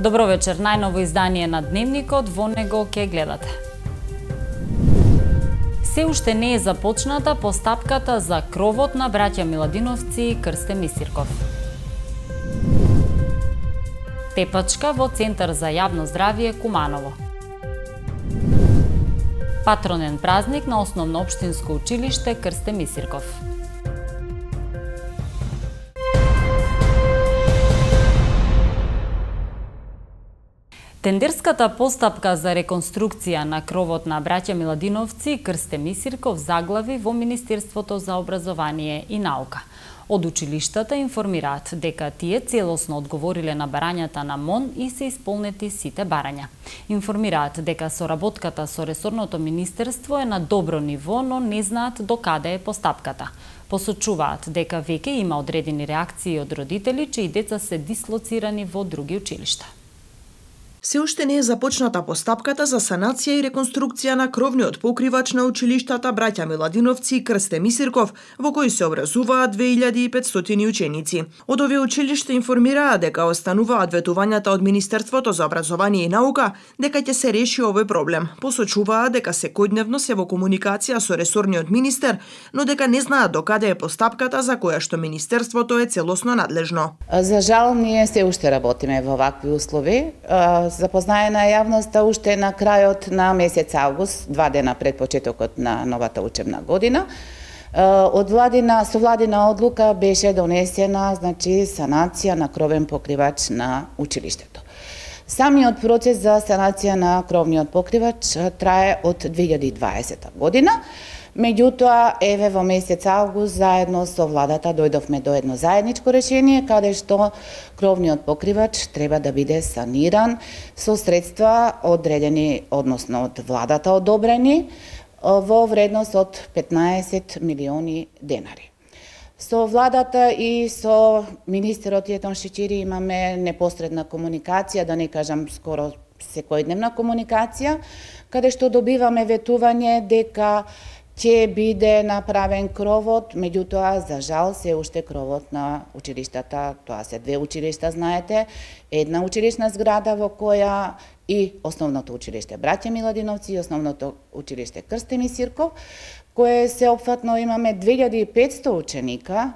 Добро вечер, најново издание на Дневникот, во него ќе гледате. Се уште не е започната постапката за кровот на браќа Миладиновци и Крсте Мисирков. Тепачка во Центар за јавно здравје Куманово. Патронен празник на Основно општинско училиште Крсте Мисирков. Тендерската постапка за реконструкција на кровот на браќа Миладиновци и Крсте Мисирков заглави во Министерството за образование и наука. Од училиштата информираат дека тие целосно одговориле на барањата на МОН и се исполнети сите барања. Информираат дека соработката со ресорното министерство е на добро ниво, но не знаат до каде е постапката. Посочуваат дека веќе има одредени реакции од родители чии деца се дислоцирани во други училишта. Се уште не е започната постапката за санација и реконструкција на кровниот покривач на училиштата браќа Миладиновци и Крсте Мисирков, во кои се образуваат 2500 ученици. Од овие училишта информираа дека остануваат ветувањата од Министерството за образование и наука дека ќе се реши овој проблем. Посочуваа дека секојдневно се во комуникација со ресорниот министер, но дека не знаат до каде е постапката за која што Министерството е целосно надлежно. За жал, ние се уште работиме во вакви услови. Запознае на јавноста уште на крајот на месец август, 2 дена пред почетокот на новата учебна година. Со владина одлука беше донесена, санација на кровен покривач на училиштето. Самиот процес за санација на кровниот покривач трае од 2020 година. Меѓутоа, еве во месец август, заедно со владата дојдовме до едно заедничко решение, каде што кровниот покривач треба да биде саниран со средства одредени, односно од владата одобрени, во вредност од 15 милиони денари. Со владата и со министерот Јетон Шичири имаме непосредна комуникација, да не кажам скоро секојдневна комуникација, каде што добиваме ветување дека ќе биде направен кровот, меѓутоа, за жал, се уште кровот на училиштата, тоа се 2 училишта, знаете, една училишна зграда во која и Основното училиште браќа Миладиновци и Основното училиште Крсте Мисирков, кое сеопфатно имаме 2500 ученика,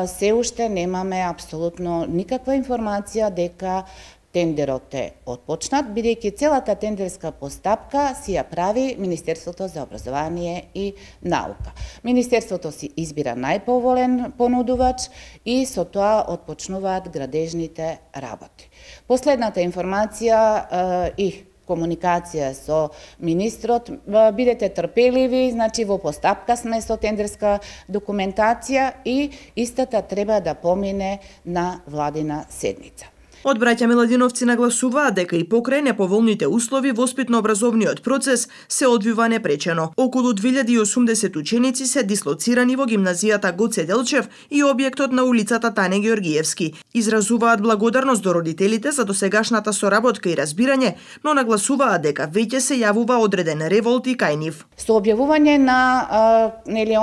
се уште немаме апсолутно никаква информација дека тендерот е отпочнат, бидејќи целата тендерска постапка си ја прави Министерството за образование и наука. Министерството си избира најповолен понудувач и со тоа отпочнуваат градежните работи. Последната информација и комуникација со министрот, бидете трпеливи, во постапка сме со тендерска документација и истата треба да помине на владина седница. Од браќа Миладиновци нагласуваат дека и покрај неповолните услови воспитно-образовниот процес се одвива непречено. Околу 2080 ученици се дислоцирани во гимназијата Гоце Делчев и објектот на улицата Тане Георгиевски. Изразуваат благодарност до родителите за досегашната соработка и разбирање, но нагласуваат дека веќе се јавува одреден револт и кај нив. Со објавување на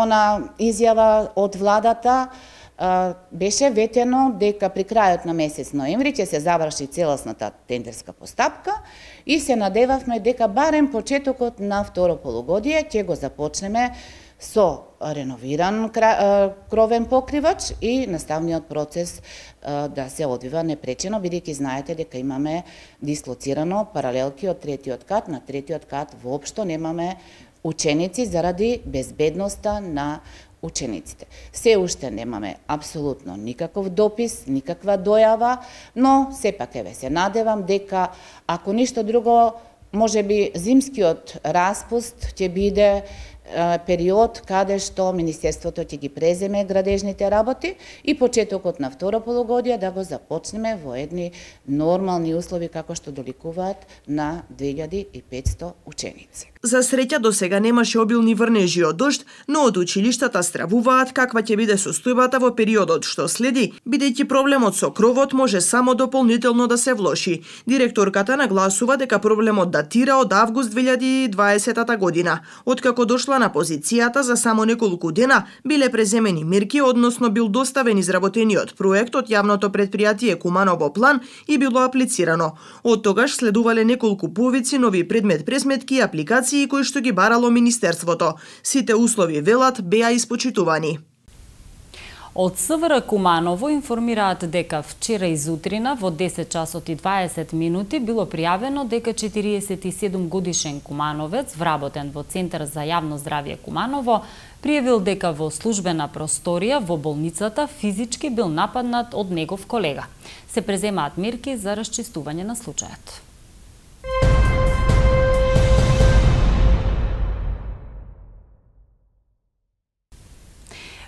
она изјава од владата, беше ветено дека при крајот на месец ноември ќе се заврши целосната тендерска постапка и се надевавме дека барем почетокот на второ полугодие ќе го започнеме со реновиран кровен покривач и наставниот процес да се одвива непречено, бидејќи знаете дека имаме дислоцирано паралелки од 3-тиот кат. На 3-тиот кат воопшто немаме ученици заради безбедноста на учениците. Се уште немаме апсолутно никаков допис, никаква дојава, но сепак се надевам дека ако ништо друго, можеби зимскиот распуст ќе биде период каде што Министерството ќе ги преземе градежните работи и почетокот на второ полугодие да го започнеме во едни нормални услови како што доликуваат на 2500 ученици. За среќа до сега немаше обилни врнежи од дожд, но од училиштата стравуваат каква ќе биде состојбата во периодот што следи, бидејќи проблемот со кровот може само дополнително да се влоши. Директорката нагласува дека проблемот датира од август 2020 година, откако дошло дошла на позицијата за само неколку дена, биле преземени мерки, односно бил доставен изработениот проект од јавното претпријатие Куманово план и било аплицирано. Од тогаш следувале неколку повици нови предмет-пресметки и апликации кои што ги барало Министерството. Сите услови, велат, беа испочитувани. Од СВР Куманово информираат дека вчера изутрина во 10 часот и 20 минути било пријавено дека 47 годишен кумановец, вработен во Центар за јавно здравје Куманово, пријавил дека во службена просторија во болницата физички бил нападнат од негов колега. Се преземаат мерки за расчистување на случајот.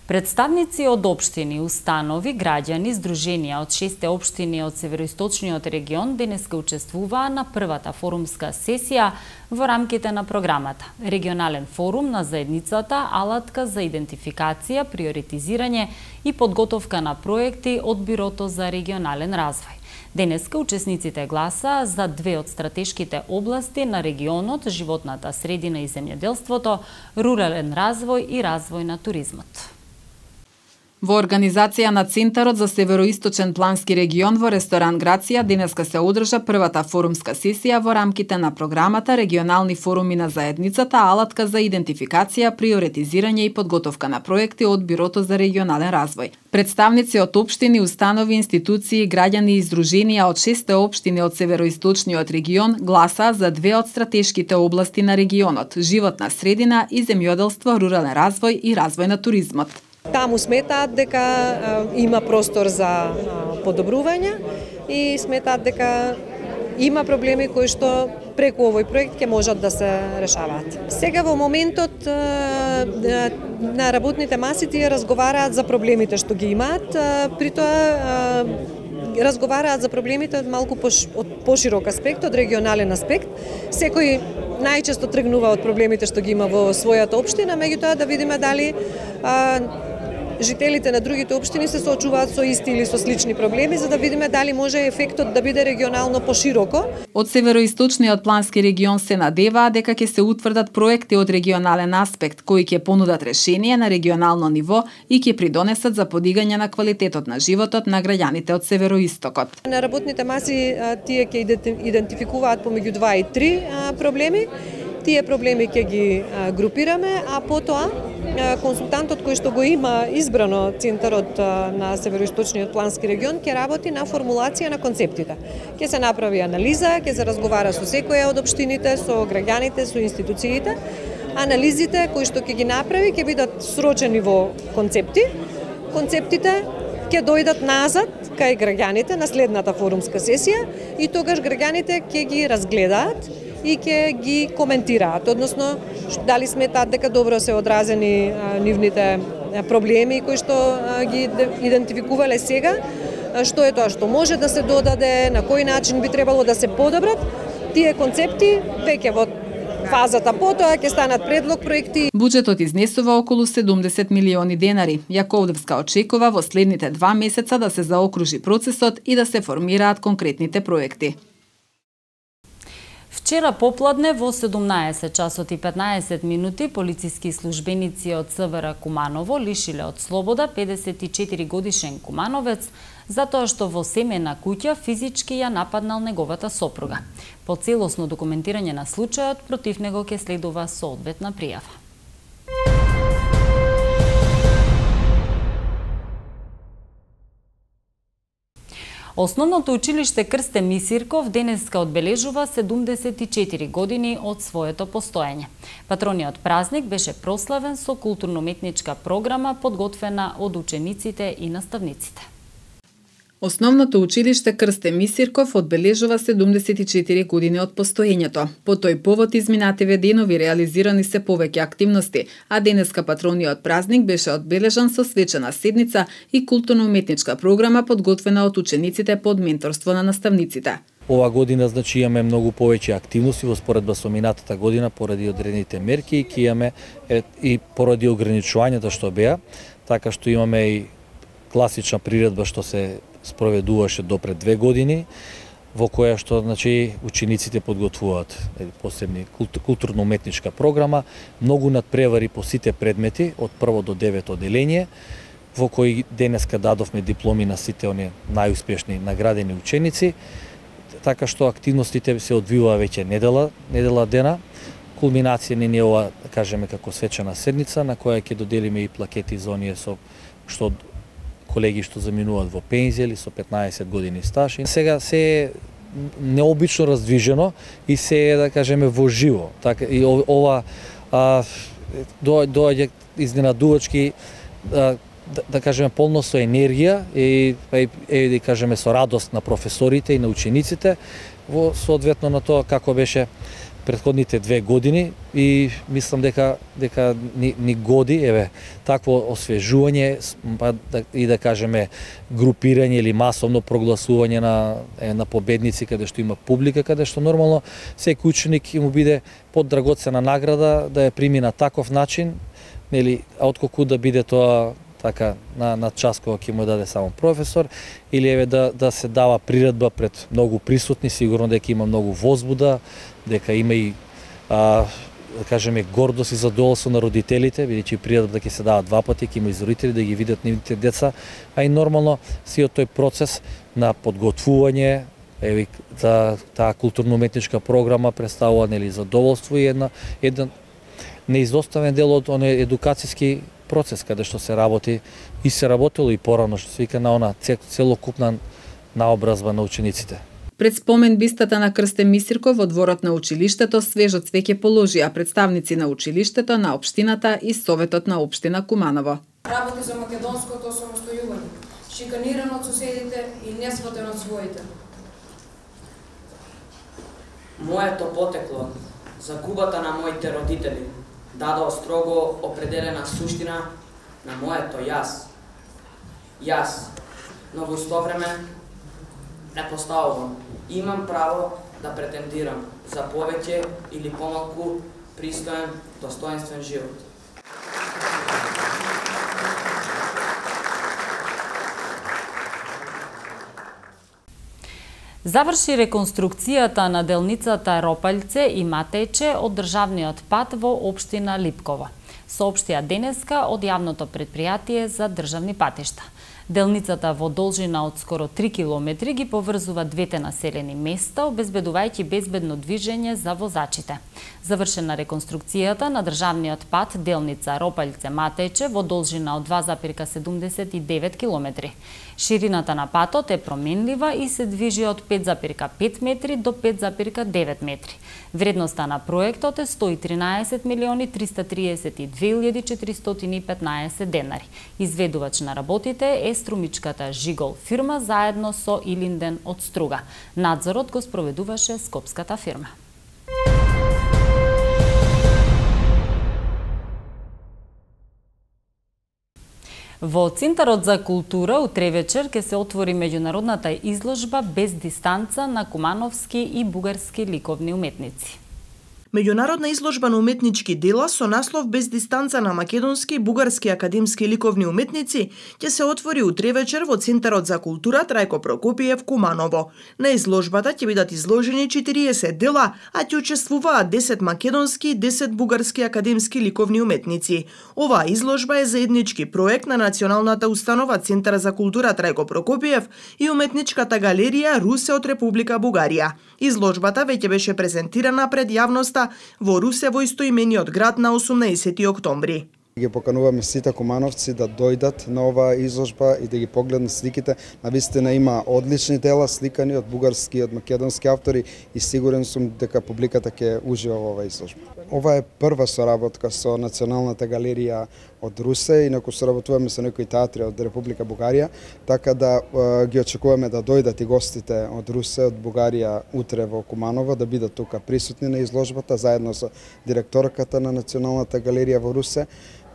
Представници од општини, установи, граѓани, здруженија од 6 општини од североисточниот регион денеска учествуваа на првата форумска сесија во рамките на програмата Регионален форум на заедницата, алатка за идентификација, приоритизирање и подготовка на проекти од Бирото за регионален развој. Денеска учесниците гласаа за две од стратешките области на регионот, животната средина и земјоделството, рурален развој и развој на туризмот. Во организација на Центарот за Североисточен плански регион во ресторан Грација денеска се одржа првата форумска сесија во рамките на програмата Регионални форуми на заедницата, алатка за идентификација, приоритизирање и подготовка на проекти од Бирото за регионален развој. Представници од општини, установи, институции, граѓани и здруженија од 6 општини од североисточниот регион гласаа за две од стратешките области на регионот: животна средина и земјоделство, рурален развој и развој на туризмот. Таму сметаат дека има простор за подобрување и сметаат дека има проблеми кои што преку овој проект ќе можат да се решаваат. Сега во моментот на работните маси тие разговараат за проблемите што ги имаат, притоа разговараат за проблемите од малку поширок аспект, од регионален аспект. Секој најчесто тргнува од проблемите што ги има во својата општина, меѓутоа да видиме дали жителите на другите општини се соочуваат со исти или со слични проблеми, за да видиме дали може ефектот да биде регионално пошироко. Од североисточниот плански регион се надеваа дека ќе се утврдат проекти од регионален аспект кои ќе понудат решение на регионално ниво и ќе придонесат за подигање на квалитетот на животот на граѓаните од североистокот. На работните маси тие ќе идентификуваат помеѓу 2 и 3 проблеми. Тие проблеми ќе ги групираме, а потоа консултантот кој што го има избрано Центарот на Североисточниот плански регион ќе работи на формулација на концептите. Ќе се направи анализа, ќе се разговара со секоја од општините, со граѓаните, со институциите. Анализите кои што ќе ги направи ќе бидат срочени во концепти. Концептите ќе дојдат назад кај граѓаните на следната форумска сесија и тогаш граѓаните ќе ги разгледаат и ќе ги коментираат, односно дали сметаат дека добро се одразени нивните проблеми кои што ги идентификувале сега, што е тоа што може да се додаде, на кој начин би требало да се подобрат. Тие концепти веќе во фазата потоа ќе станат предлог проекти. Буџетот изнесува околу 70 милиони денари. Јаковлевска очекува во следните 2 месеца да се заокружи процесот и да се формираат конкретните проекти. Вчера попладне во 17 часот и 15 минути полициски службеници од СВР Куманово лишиле од слобода 54 годишен кумановец затоа што во семена куќа физички ја нападнал неговата сопруга. По целосно документирање на случајот против него ќе следува соодветна пријава. Основното училиште Крсте Мисирков денеска одбележува 74 години од своето постоење. Патрониот празник беше прославен со културно-уметничка програма подготвена од учениците и наставниците. Основното училиште Крсте Мисирков одбележува 74 години од постоењето. По тој повод изминативе денови реализирани се повеќе активности, а денеска патрониот празник беше одбележан со свечена седница и културно-уметничка програма подготвена од учениците под менторство на наставниците. Ова година имаме многу повеќе активности во споредба со минатата година поради одредените мерки и имаме и поради ограничувањата што беа, така што имаме и класична приредба што се спроведуваше до пред 2 години. во која што значи учениците подготвуваат посебни културно-уметничка програма, многу надпревари по сите предмети од прво до 9 оделение, во кои денеска дадовме дипломи на сите оние најуспешни наградени ученици, така што активностите се одвиваа веќе недела дена. Кулминација не е ова, кажеме, како свечена седница, на која ќе доделиме и плакети за оние што колеги што заминуваат во пензија или со 15 години стаж. Сега се е необично раздвижено и се е, да кажеме, во живо. Така и ова доаѓа изненадувачки, да кажеме, полно со енергија и да кажеме со радост на професорите и на учениците во соодветно на тоа како беше претходните 2 години, и мислам дека ни годи такво освежување и да кажеме групирање или масовно прогласување на победници каде што има публика, каде што нормално секој ученик ќе му биде поддрагоцена награда да ја прими на таков начин, нели, отколку да биде тоа така на час кога ќе му даде само професор, или да се дава приредба пред многу присутни, сигурно дека има многу возбуда, дека има и да кажеме гордост и задоволство на родителите, бидејќи приредба ќе се дава 2 пати, ќе има и родители да ги видат нивните деца, а и нормално сиот тој процес на подготвување за таа културно-уметничка програма представува, нели, задоволство и еден неизоставен дел од оној едукацијски процес каде што се работи и се работело и порано, што се вика на она целокупна наобразба на учениците. Пред спомен бистата на Крсте Мисирков во дворот на училиштето свежо цвеќе положија представници на училиштето, на општината и Советот на општина Куманово. Работи за македонското самостојување, шиканиран од соседите и несватен од своите. Моето потекло, загубата на моите родители, дадо строго определена суштина на моето јас. Јас, но во исто време не поставувам. Имам право да претендирам за повеќе или помалку пристоен, достоинствен живот. Заврши реконструкцијата на делницата Ропаљце и Матејче од државниот пат во општина Липково, соопштија денеска од јавното претпријатие за државни патишта. Делницата во должина од скоро 3 километри ги поврзува двете населени места, обезбедувајќи безбедно движење за возачите. Завршена реконструкцијата на државниот пат делница Ропаљце-Матејче во должина од 2,79 километри. Ширината на патот е променлива и се движи од 5,5 метри до 5,9 метри. Вредноста на проектот е 113.332.415 денари. Изведувач на работите е струмичката Жигол фирма заедно со Илинден од Струга. Надзорот го спроведуваше скопската фирма. Во Центарот за култура утре вечер ќе се отвори меѓународната изложба Без дистанца на кумановски и бугарски ликовни уметници. Меѓународна изложба на уметнички дела со наслов Без дистанца на македонски и бугарски академски ликовни уметници ќе се отвори утре вечер во Центарот за култура Трајко Прокопиев Куманово. На изложбата ќе бидат изложени 40 дела, а ќе учествуваат 10 македонски и 10 бугарски академски ликовни уметници. Оваа изложба е заеднички проект на Националната установа Центар за култура Трајко Прокопиев и Уметничката галерија Русе од Република Бугарија. Изложбата веќе беше презентирана пред јавноста во Русе во истоимениот град на 18 октомври. Ги покануваме сите кумановци да дојдат на оваа изложба и да ги погледнат сликите. Навистина има одлични дела сликани од бугарски и од македонски автори и сигурен сум дека публиката ќе ужива во оваа изложба. Ова е прва соработка со Националната галерија од Русе, инаку соработуваме со некои театри од Република Бугарија, така да ги очекуваме да дојдат и гостите од Русе, од Бугарија утре во Куманово, да бидат тука присутни на изложбата заедно со директорката на Националната галерија во Русе.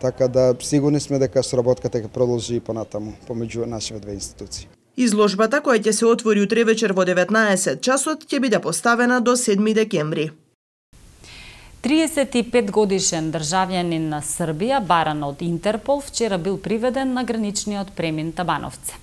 Така да сигурни сме дека соработката ќе продолжи и понатаму помеѓу нашите две институции. Изложбата која ќе се отвори утре вечер во 19 часот ќе биде поставена до 7 декември. 35 годишен државјанин на Србија, баран од Интерпол, вчера бил приведен на граничниот премин Табановце.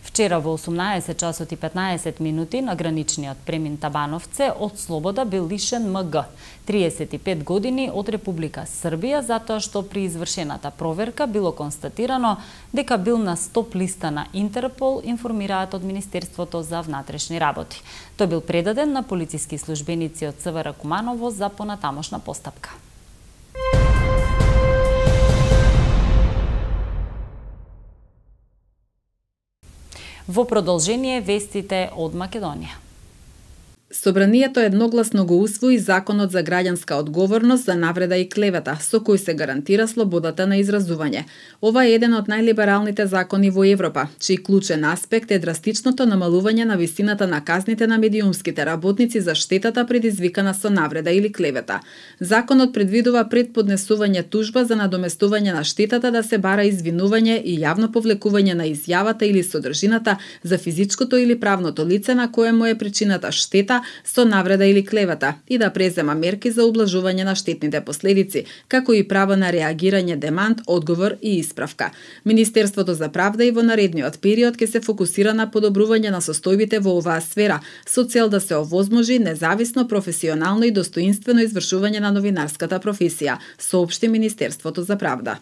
Вчера во 18 часот и 15 минути на граничниот премин Табановце од слобода бил лишен МГ, 35 години, од Република Србија, затоа што при извршената проверка било констатирано дека бил на стоп листа на Интерпол, информираат од Министерството за внатрешни работи. Тој бил предаден на полициски службеници од ЦВР Куманово за понатамошна постапка. Во продолжение вестите од Македонија. Собранието едногласно го усвои Законот за граѓанска одговорност за навреда и клевета, со кој се гарантира слободата на изразување. Ова е еден од најлибералните закони во Европа, чиј клучен аспект е драстичното намалување на висината на казните на медиумските работници за штетата предизвикана со навреда или клевета. Законот предвидува пред поднесување тужба за надоместување на штетата да се бара извинување и јавно повлекување на изјавата или содржината за физичкото или правното лице на кое му е причината штета со навреда или клевета и да презема мерки за ублажување на штетните последици, како и право на реагирање, демант, одговор и исправка. Министерството за правда и во наредниот период ќе се фокусира на подобрување на состојбите во оваа сфера, со цел да се овозможи независно, професионално и достоинствено извршување на новинарската професија, соопшти Министерството за правда.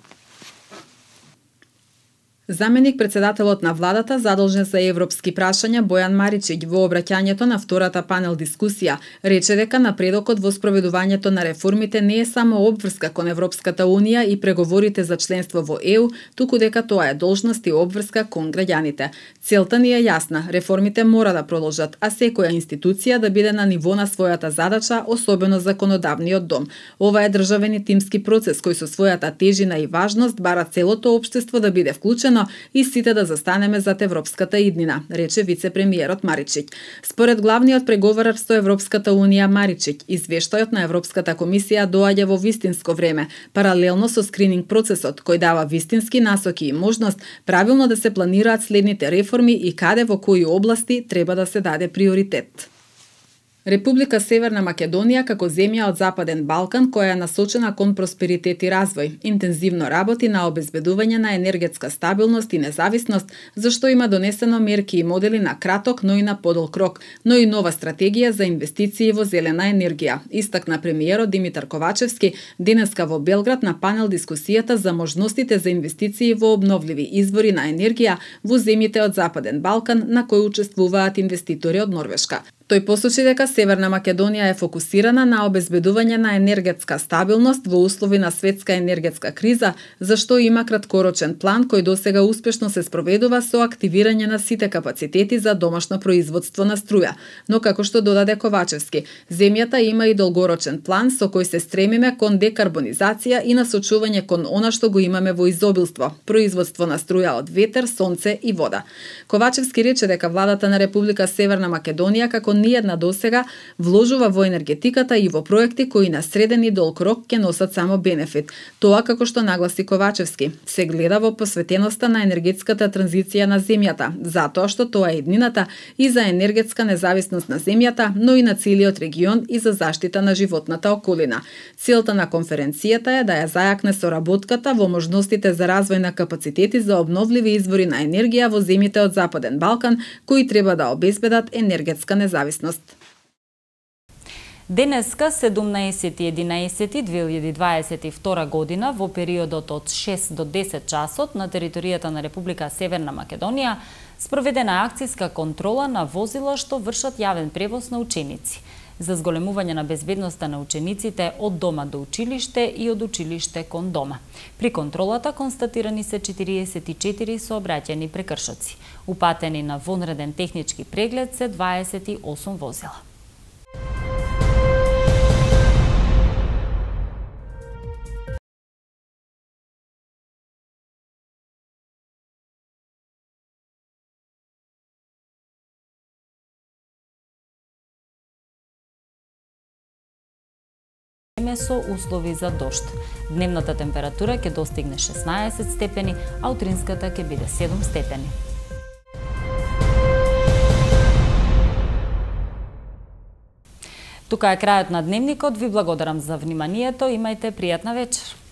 Заменик председателот на владата задолжен за европски прашања Бојан Маричиќ во обраќањето на втората панел дискусија рече дека напредокот во спроведувањето на реформите не е само обврска кон Европската унија и преговорите за членство во ЕУ, туку дека тоа е должност и обврска кон граѓаните. Целта ни е јасна, реформите мора да продолжат, а секоја институција да биде на ниво на својата задача, особено законодавниот дом. Ова е државен и тимски процес кој со својата тежина и важност бара целото општество да биде вклучено и сите да застанеме зад европската иднина, рече вице-премиерот Маричиќ. Според главниот преговарар со Европската унија Маричиќ, извештајот на Европската комисија доаѓа во вистинско време, паралелно со скрининг процесот кој дава вистински насоки и можност правилно да се планираат следните реформи и каде во кои области треба да се даде приоритет. Република Северна Македонија како земја од Западен Балкан која е насочена кон просперитет и развој, интензивно работи на обезбедување на енергетска стабилност и независност, зашто има донесено мерки и модели на краток, но и на подолг рок, но и нова стратегија за инвестиции во зелена енергија, истакна премиерот Димитар Ковачевски денеска во Белград на панел дискусијата за можностите за инвестиции во обновливи извори на енергија во земјите од Западен Балкан на кои учествуваат инвеститори од Норвешка. Тој посочи дека Северна Македонија е фокусирана на обезбедување на енергетска стабилност во услови на светска енергетска криза, зашто има краткорочен план кој досега успешно се спроведува со активирање на сите капацитети за домашно производство на струја. Но како што додаде Ковачевски, земјата има и долгорочен план со кој се стремиме кон декарбонизација и насочување кон она што го имаме во изобилство, производство на струја од ветер, сонце и вода. Ковачевски рече дека владата на Република Северна Македонија како ниедна досега вложува во енергетиката и во проекти кои на среден и долг рок ќе носат само бенефит. Тоа, како што нагласи Ковачевски, се гледа во посветеноста на енергетската транзиција на земјата, затоа што тоа е еднината и за енергетска независност на земјата, но и на целиот регион и за заштита на животната околина. Целта на конференцијата е да ја зајакне соработката во можностите за развој на капацитети за обновливи извори на енергија во земјите од Западен Балкан, кои треба да обезбедат енергетска независност. Денеска, 17.11.2022 година, во периодот од 6 до 10 часот на територијата на Република Северна Македонија, спроведена акцијска контрола на возила што вршат јавен превоз на ученици, за зголемување на безбедноста на учениците од дома до училиште и од училиште кон дома. При контролата констатирани се 44 сообраќајни прекршоци. Упатени на вонреден технички преглед се 28 возила. Со услови за дожд. Дневната температура ќе достигне 16 степени, а утринската ќе биде 7 степени. Тука е крајот на дневникот. Ви благодарам за вниманието. Имајте пријатна вечер.